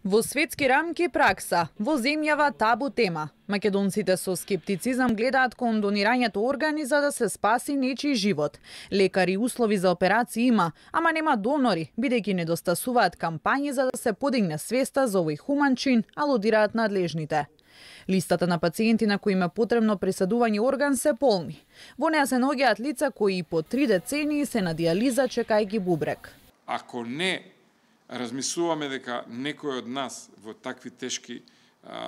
Во светски рамки пракса, во земјава табу тема. Македонците со скептицизам гледаат кон донирањето органи за да се спаси нечiji живот. Лекари услови за операции има, ама нема донори, бидејќи недостасуваат кампањи за да се подигне свеста за овој хуман чин, алудираат надлежните. Листата на пациенти на кои им е потребно пресадување орган се полни. Во неа се наоѓаат лица кои и по 3 децении се на дијализа чекајќи бубрек. Ако не размислуваме дека некој од нас во такви тешки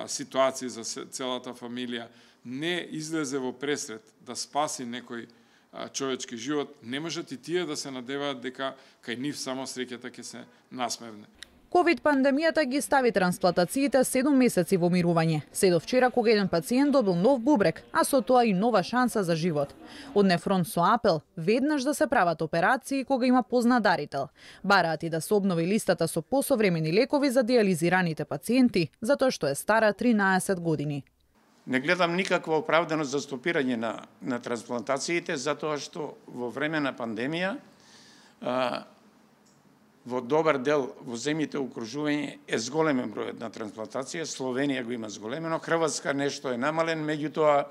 ситуации за целата фамилија не излезе во пресред да спаси некој човечки живот, не можат и тие да се надеваат дека кај нив само среќата ќе се насмевне. Ковид пандемијата ги стави трансплантациите 7 месеци во мирување. Се до вчера кога еден пациент добил нов бубрек, а со тоа и нова шанса за живот. Одне фронт со апел веднаш да се прават операции кога има познат дарител. Бараат и да се обнови листата со посовремени лекови за дијализираните пациенти, затоа што е стара 13 години. Не гледам никаква оправданост за стопирање на трансплантациите, затоа што во време на пандемија во добар дел во земјите окружување е зголемен бројот на трансплантација, Словенија го има зголемено, Хрватска нешто е намален, меѓутоа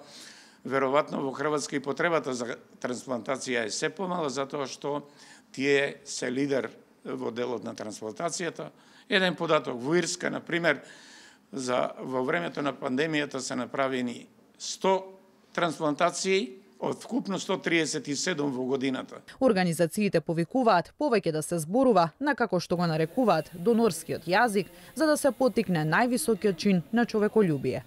веројатно во Хрватска и потребата за трансплантација е се помала затоа што тие се лидер во делот на трансплантацијата. Еден податок во Ирска, на пример, во времето на пандемијата се направени 100 трансплантации, од вкупно 137 во годината. Организациите повикуваат повеќе да се зборува на како што го нарекуваат донорскиот јазик, за да се поттикне највисокиот чин на човеколюбие.